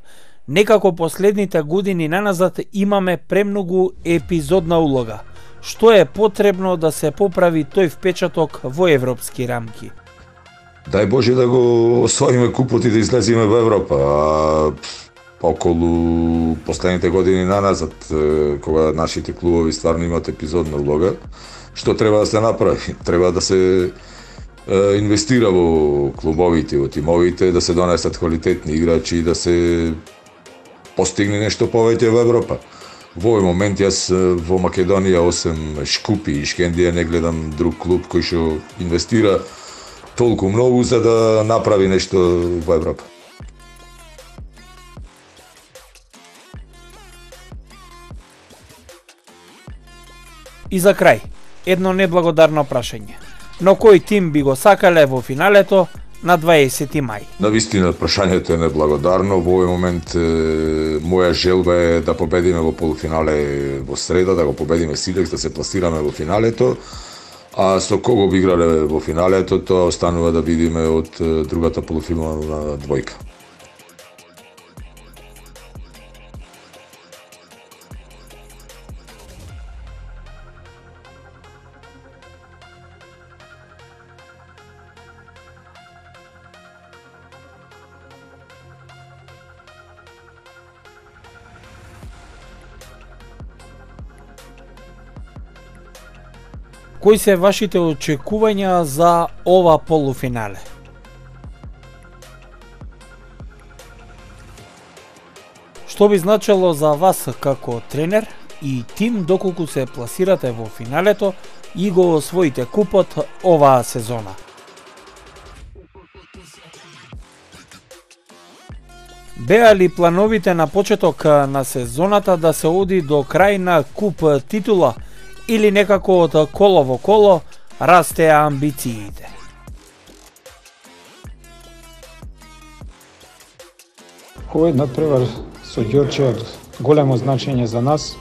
Некако последните години наназад имаме премногу епизодна улога. Што е потребно да се поправи тој впечаток во европски рамки? Дај Боже да го освоиме купот и да излеземе во Европа. А околу последните години наназад, кога нашите клубови стварно имаат епизодна улога, што треба да се направи? Треба да се инвестира во клубовите, во тимовите, да се донесат квалитетни играчи и да се постигне нешто повеќе во Европа. Во овој момент јас во Македонија, осем Шкупи и Шкендија, не гледам друг клуб кој што инвестира толку многу за да направи нешто во Европа. И за крај, едно неблагодарно прашање. Но кој тим би го сакале во финалето на дваесети мај? Навистина, прашањето е неблагодарно. Во овој момент е, моја желба е да победиме во полуфинале во среда, да го победиме Силекс, да се пласираме во финалето. А со кого би играле во финалето, тоа останува да видиме од другата полуфинална двојка. Кои се вашите очекувања за ова полуфинале? Што би значело за вас како тренер и тим доколку се пласирате во финалето и го освоите купот оваа сезона? Беа ли плановите на почеток на сезоната да се оди до крај на куп титула или некако од коло во коло растеа амбициите? Овој надпревар со Ѓорче од големо значење за нас,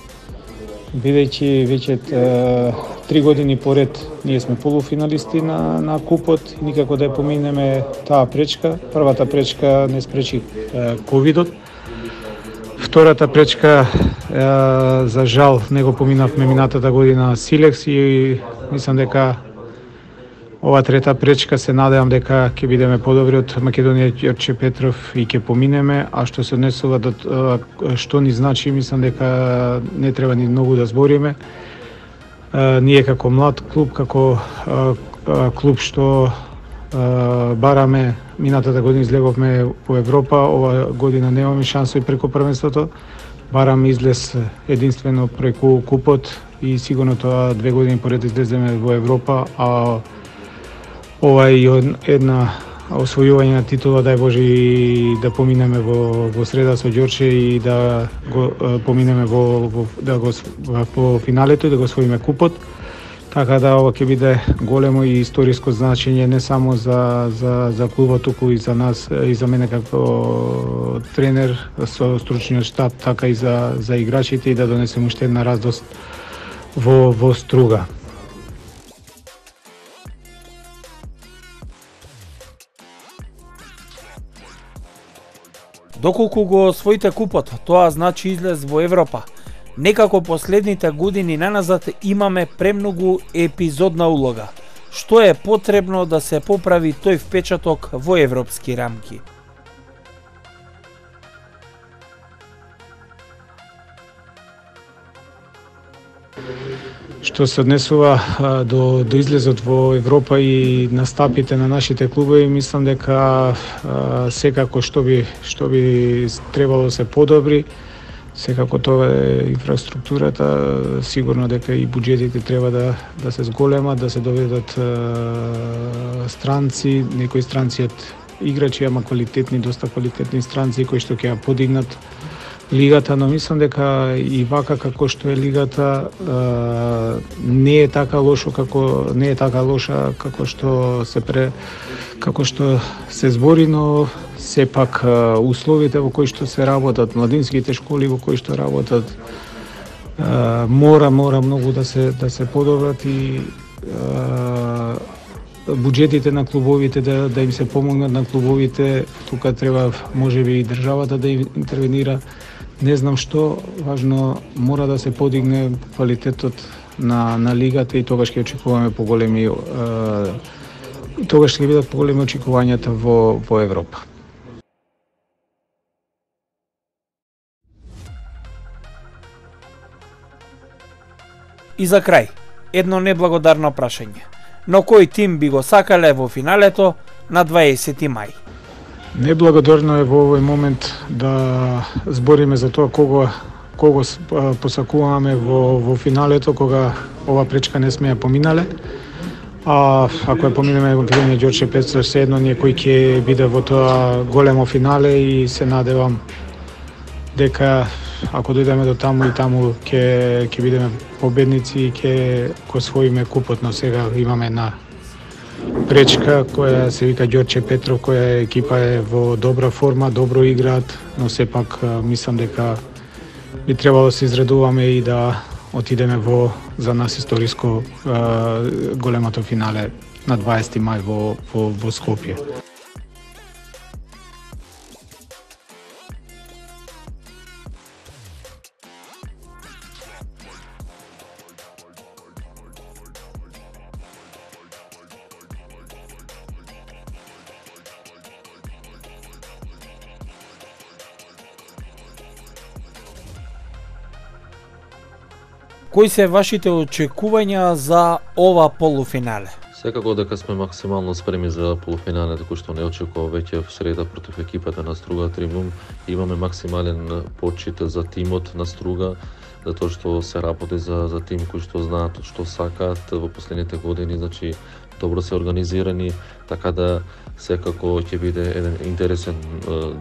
бидејќи веќе е, три години поред ние сме полуфиналисти на, на купот и никако да ја поминеме таа пречка. Првата пречка не спречи е, ковидот. Втората пречка, е, за жал, не го поминавме минатата година Силекс и мислам дека ова трета пречка се надевам дека ќе бидеме подобри од Македонија Ѓорче Петров и ќе поминеме, а што се однесува до што ни значи, мислам дека не треба ни многу да збориме. Е, ние како млад клуб, како е, клуб што е, бараме, минатата година излеговме во Европа, ова година немаме шансови преку првенството, бараме излез единствено преку купот и сигурно тоа две години поред излеземе во Европа, а ова е една освојување на титула, дај Боже, и да поминеме во, во среда со Ѓорче и да го поминеме во, во да го во финалето и да го освоиме купот. Така да ова ќе биде големо и историско значење не само за за за клубот, туку и за нас и за мене како тренер со стручниот штаб, така и за за играчите, и да донесеме уште една радост во во Струга. Доколку го освоите купот, тоа значи излез во Европа. Некако последните години наназад имаме премногу епизодна улога. Што е потребно да се поправи тој впечаток во европски рамки? Што се однесува а, до, до излезот во Европа и настапите на нашите клубови, мислам дека а, секако што би што би требало да се подобри. Секако тоа е инфраструктурата, сигурно дека и буџетите треба да да се зголемат, да се доведат а, странци, некои странци од играчи, ама квалитетни, доста квалитетни странци кои што ќе ја подигнат лигата, но мислам дека и вака како што е лигата а, не е така лошо како не е така лоша како што се пре како што се збори, но сепак условите во кои што се работат, младинските школи во кои што работат, а, мора мора многу да се да се подобрат и а, буџетите на клубовите да да им се помогнат на клубовите. Тука треба можеби и државата да интервенира. Не знам што, важно мора да се подигне квалитетот на на лигата и тогаш ќе очекуваме поголеми е, тогаш ќе бидат поголеми очекувањата во во Европа. И за крај, едно неблагодарно прашање. Но кој тим би го сакале во финалето на дваесети мај? Неблагодарно е во овој момент да збориме за тоа кого кого посакуваме во во финалето, кога ова пречка не сме ја поминале. А ако ја поминеме во Гринје Ѓорче Петров, се едно некој ќе биде во тоа големо финале и се надевам дека ако дојдеме до таму и таму ќе ќе бидеме победници и ќе го освоиме купот, но сега имаме една пречка која се вика Ѓорче Петров, која екипа е во добра форма, добро играат, но сепак мислам дека би требало да се изредуваме и да отидеме во за нас историско големото финале на дваесети мај во во, во Скопје. Кои се вашите очекувања за ова полуфинале? Секако дека сме максимално спремни за полуфиналето, кој што не очекува веќе в среда против екипата на Струга Тримум. Имаме максимален почит за тимот на Струга, затоа што се работи за за тим кои што знаат што сакаат во последните години, значи добро се организирани, така да секако ќе биде еден интересен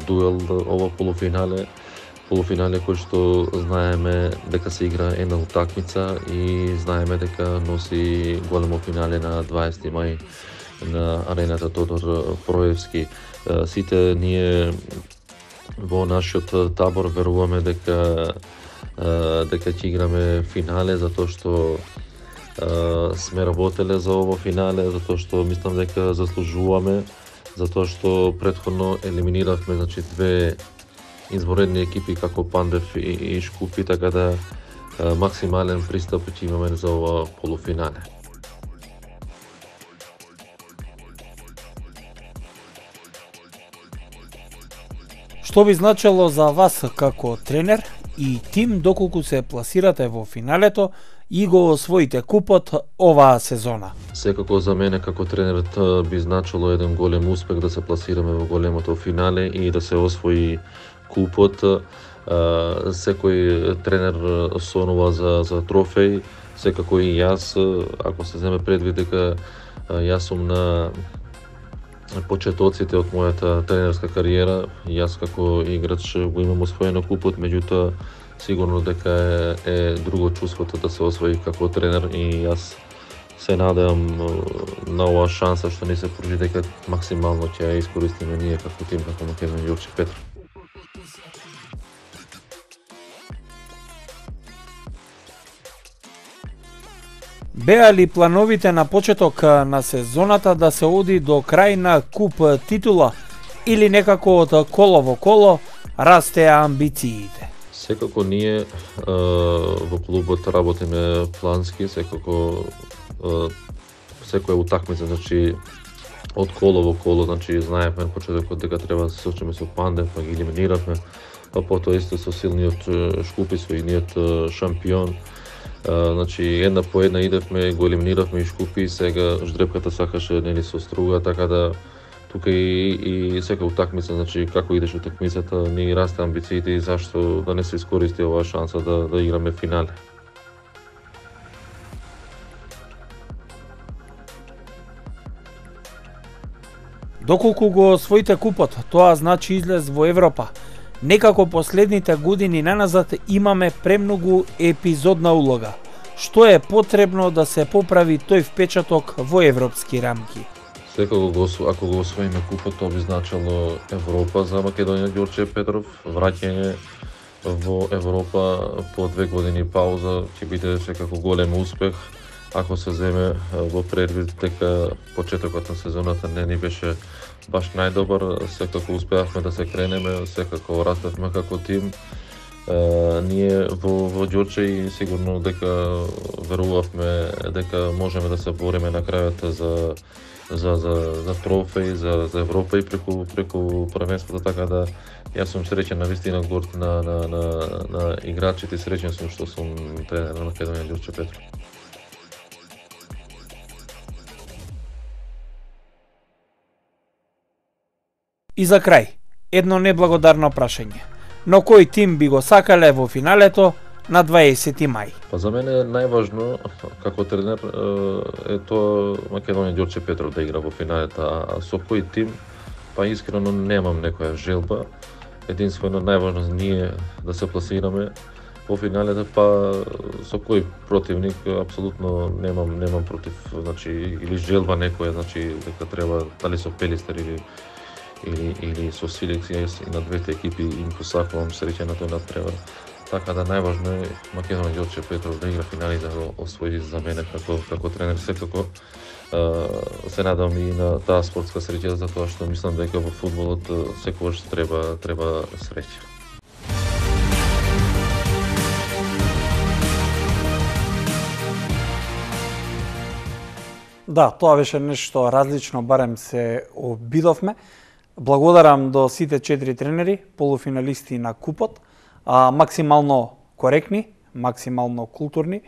дуел ова полуфинале. Полуфинале кој што знаеме дека се игра една утакмица и знаеме дека носи големо финале на дваесети мај на арената Тодор Проевски. Сите ние во нашиот табор веруваме дека дека ќе играме финале, затоа што сме работеле за ово финале, затоа што мислам дека заслужуваме, затоа што претходно елиминиравме значи две изворедни екипи како Пандев и, и Шкупи, така да а, максимален пристап ќе имаме за ова полуфинале. Што би значело за вас како тренер и тим доколку се пласирате во финалето и го освоите купот оваа сезона? Секако за мене како тренерот би значило еден голем успех да се пласираме во големото финале и да се освои купот. секој тренер сонува за за трофеј, секако и јас, ако се земе предвид дека јас сум на почетоците од мојата тренерска кариера, јас како играч го имам освоено купот, меѓутоа сигурно дека е, е друго чувството да се освои како тренер и јас се надевам на оваа шанса што ни се пружи дека максимално ќе ја искористиме ние како тим, како Македонија Ѓорче Петров. Беа ли плановите на почеток на сезоната да се оди до крај на куп титула или некако од коло во коло растеа амбициите? Секако ние во клубот работиме плански, секако секоја утакмица, значи од коло во коло, значи знаевме на почетокот дека треба да се сочиме со Пандев, па ги елиминиравме, па потоа исто со силниот Шкупи, со идниот шампион. Значи една по една идевме, го елиминиравме и Шкупи, и сега ждрепката сакаше нели со Струга, така да тука и, и сека утакмица, значи како идеш утакмицата, ни расте амбициите и зашто да не се искористи оваа шанса да, да играме финале. Доколку го освоите купот, тоа значи излез во Европа. Некако последните години наназад имаме премногу епизодна улога. Што е потребно да се поправи тој впечаток во европски рамки? Секако го, ако го освоиме купот, тоа би значило Европа за Македонија Ѓорче Петров, враќање во Европа по две години пауза ќе биде секако голем успех. Ако се земе во предвид дека почетокот на сезоната не ни беше баш најдобар, секако успеавме да се кренеме, секако растевме како тим. Uh, ние во, во Ѓорче и сигурно дека верувавме дека можеме да се бориме на крајот за за за за трофеј, за за Европа и преку преку првенството, така да јас сум среќен на вистина горд на на на на играчите, среќен сум што сум тренер на Македонија Ѓорче Петров. И за крај, едно неблагодарно прашање. Но кој тим би го сакале во финалето на дваесети мај? Па за мене најважно како тренер е тоа Македонија Ѓорче Петров да игра во финалето, а со кој тим па искрено немам некоја желба. Единствено најважно за ние да се пласираме во финалето, па со кој противник апсолутно немам немам против, значи или желба некоја, значи дека треба дали со Пелистер или или или со селекција, и на двете екипи им посакувам среќа на тој надпревар. Така да најважно е Македонија Ѓорче Петров да игра финали, да го освои за мене како како тренер. Секако се надам и на таа спортска среќа, затоа што мислам дека во фудбалот секогаш треба треба среќа. Да, тоа беше нешто различно, барем се обидовме. Благодарам до сите четири тренери, полуфиналисти на купот, а, максимално коректни, максимално културни,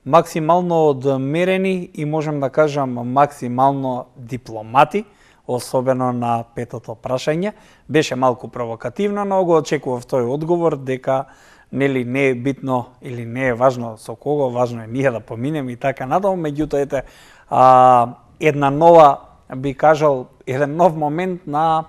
максимално одмерени и можем да кажам максимално дипломати, особено на петото прашање. Беше малку провокативно, но го очекував тој одговор дека нели не е битно или не е важно со кого, важно е ние да поминеме и така надолу. Меѓутоа ете а, една нова, би кажал, еден нов момент на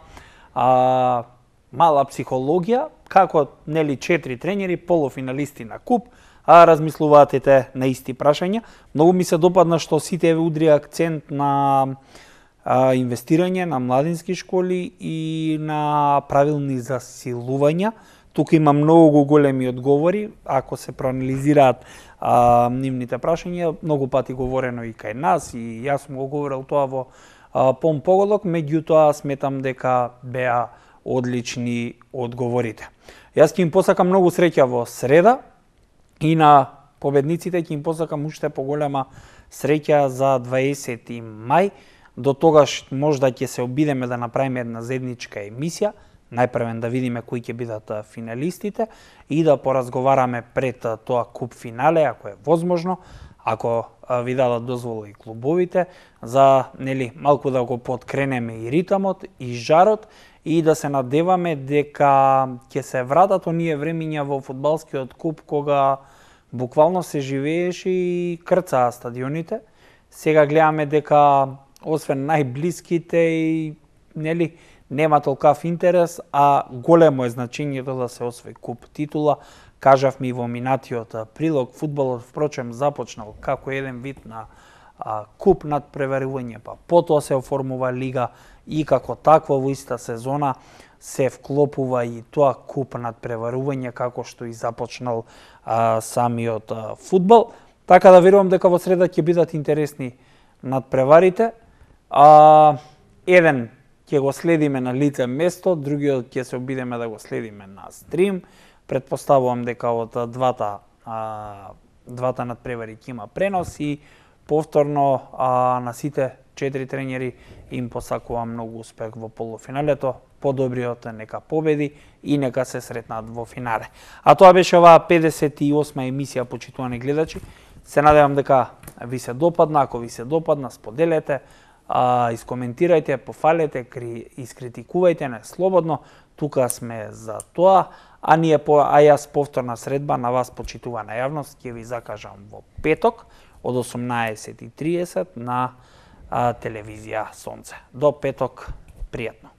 а, мала психологија, како нели четири тренери, полуфиналисти на куп, а размислуваат ете на исти прашања. Многу ми се допадна што сите удри акцент на а, инвестирање на младински школи и на правилни засилувања. Тука има многу големи одговори, ако се проанализираат а, нивните прашања, многу пати говорено и кај нас, и јас сум го говорил тоа во а, пон поголок, меѓутоа сметам дека беа одлични одговорите. Јас ќе им посакам многу среќа во среда и на победниците ќе им посакам уште поголема среќа за дваесети мај. До тогаш можда ќе се обидеме да направиме една заедничка емисија, најпрвен да видиме кои ќе бидат финалистите и да поразговараме пред тоа куп финале, ако е возможно, ако ви дадат дозвола и клубовите, за нели малку да го подкренеме и ритамот и жарот и да се надеваме дека ќе се вратат оние времиња во фудбалскиот куп кога буквално се живееше и крцаа стадионите. Сега гледаме дека освен најблиските и нели нема толкав интерес, а големо е значењето да се освои куп титула. Кажавме и во минатиот прилог, фудбалот впрочем започнал како еден вид на а, куп над преварување, па потоа се оформува лига и како таква во иста сезона се вклопува и тоа куп над преварување како што и започнал а, самиот а, фудбал. Така да верувам дека во среда ќе бидат интересни надпреварите. А, еден ќе го следиме на лице место, другиот ќе се обидеме да го следиме на стрим. Предпоставувам дека од двата а, двата надпревари ќе има пренос и повторно а, на сите четири тренери им посакувам многу успех во полуфиналето. Подобриот нека победи и нека се сретнат во финале. А тоа беше оваа педесет и осма емисија, почитувани гледачи. Се надевам дека ви се допадна, ако ви се допадна, споделете, а, искоментирајте, пофалете, кри, искритикувајте не слободно. Тука сме за тоа, а ние по а јас повторна средба на вас, почитувана јавност, ќе ви закажам во петок од осумнаесет и триесет на а, телевизија Сонце. До петок, пријатно.